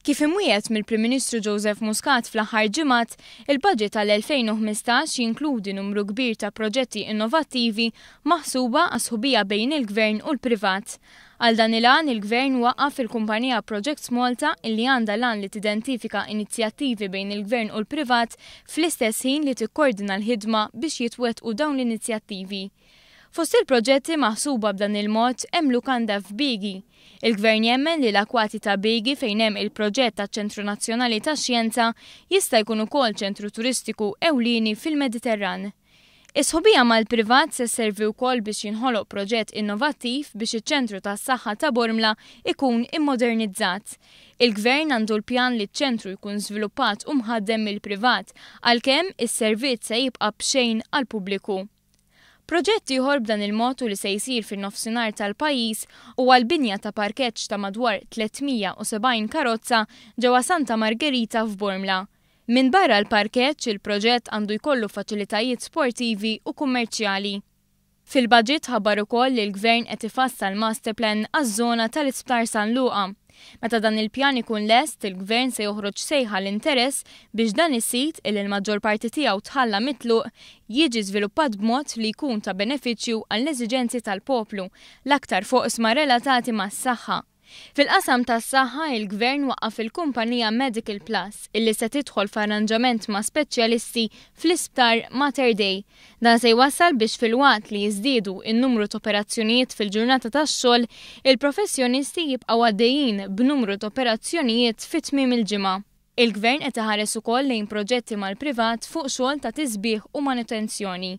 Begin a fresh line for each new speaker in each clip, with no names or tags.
Kif imwiegħed mill-Prim Ministru Joseph Muscat fl-aħħar ġimgħat, il-budget tal-2015 jinkludi numru kbir ta' proġetti innovattivi maħsuba għas-sħubija bejn il-Gvern u l-privat. Għal dan il-għan, il-Gvern waqqaf il-kumpanija Projects Malta illi għandha l-għan li tidentifika inizjattivi bejn il-Gvern u l-privat fl-istess ħin li tikkordina l-ħidma biex jitwettqu dawn l-inizjattivi. Fost il-proġetti maħsuba b'dan il-mod hemm lukanda f'Bigi. Il-Gvern jemmen li l-akwati ta' Bigi fejn hemm il-proġett taċ-Ċentru Nazzjonali tax-Xjenza jista' jkun ukoll ċentru turistiku ewlieni fil-Mediterran. Is-sħubija mal-privat se sservi wkoll biex jinħoloq proġett innovattiv biex iċ-ċentru tas-saħħa ta' Bormla ikun immodernizzat. Il-Gvern għandu l-pjan li ċ-ċentru jkun żviluppat u mħaddem mill-privat għalkemm is-servizz se jibqa' b'xejn għall-pubbliku. Proġett ieħor b'dan il-mod u li se jsir fin-nofsinhar tal-pajjiż huwa l-binja ta' parkeġġ ta' madwar 370 karozza ġewwa Santa Margherita f'Bormla. Minbarra l-parkeġġ, il-proġett għandu jkollu faċilitajiet sportivi u kummerċjali. Fil-budget ħabbar ukoll li l-Gvern qed ifassal masterplan għaż-żona tal-Isptar San Luqa. Meta dan il-pjan ikun lest, il-Gvern se joħroġ sejħa l-interess biex dan is-sit illi l-maġġor parti tiegħu tħalla mitluq jiġi żviluppat b'mod li jkun ta' benefiċċju għall-eżiġenzi tal-poplu, l-aktar f'oqsma relatati mas-saħħa. Fil-qasam tas-saħħa, il-Gvern waqqaf il-kumpanija Medical Plus illi se tidħol f'arranġament ma' speċjalisti fl-Isptar Mater Dei. Dan se jwassal biex filwaqt li jiżdiedu n-numru t'operazzjonijiet fil-ġurnata tax-xogħol, il-professjonisti jibqgħu għaddejjin b'numru t'operazzjonijiet fi tmiem il-ġimgħa. Il-Gvern qed iħares ukoll lejn proġetti mal-privat fuq xogħol ta' tisbiħ u manutenzjoni.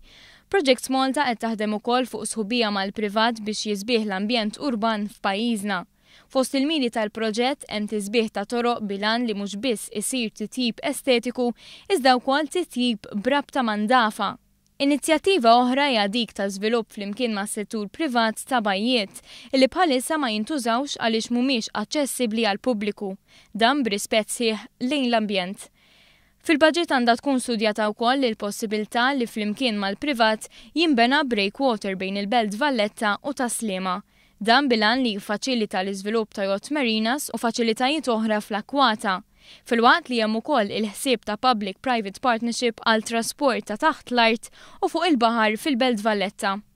Projects Malta qed taħdem ukoll fuq sħubija mal-privat biex jisbieħ l-ambjent urban f'pajjiżna. Fost il-miri tal-proġett hemm tisbiħ ta' toroq bil-għan li mhux biss isir titjib estetiku iżda wkoll titjib b'rabta ma' ndafa. Inizjattiva oħra hija dik ta' żvilupp flimkien mas-settur privat ta' bajjiet illi bħalissa ma jintużawx għaliex mhumiex aċċessibbli għall-pubbliku, dan b'rispett sħiħ lejn l-ambjent. Fil-baġit għandha tkun studjata wkoll il-possibilità li flimkien mal-privat jinbena breakwater bejn il-Belt Valletta u Tas-Sliema. Dan bil-għan li jiffaċilita l-iżvilupp ta' yacht marinas u faċilitajiet oħra fl-akkwata. Filwaqt li hemm ukoll il-ħsieb ta' public private partnership għal trasport ta' taħt l-art u fuq il-baħar fil-Belt Valletta.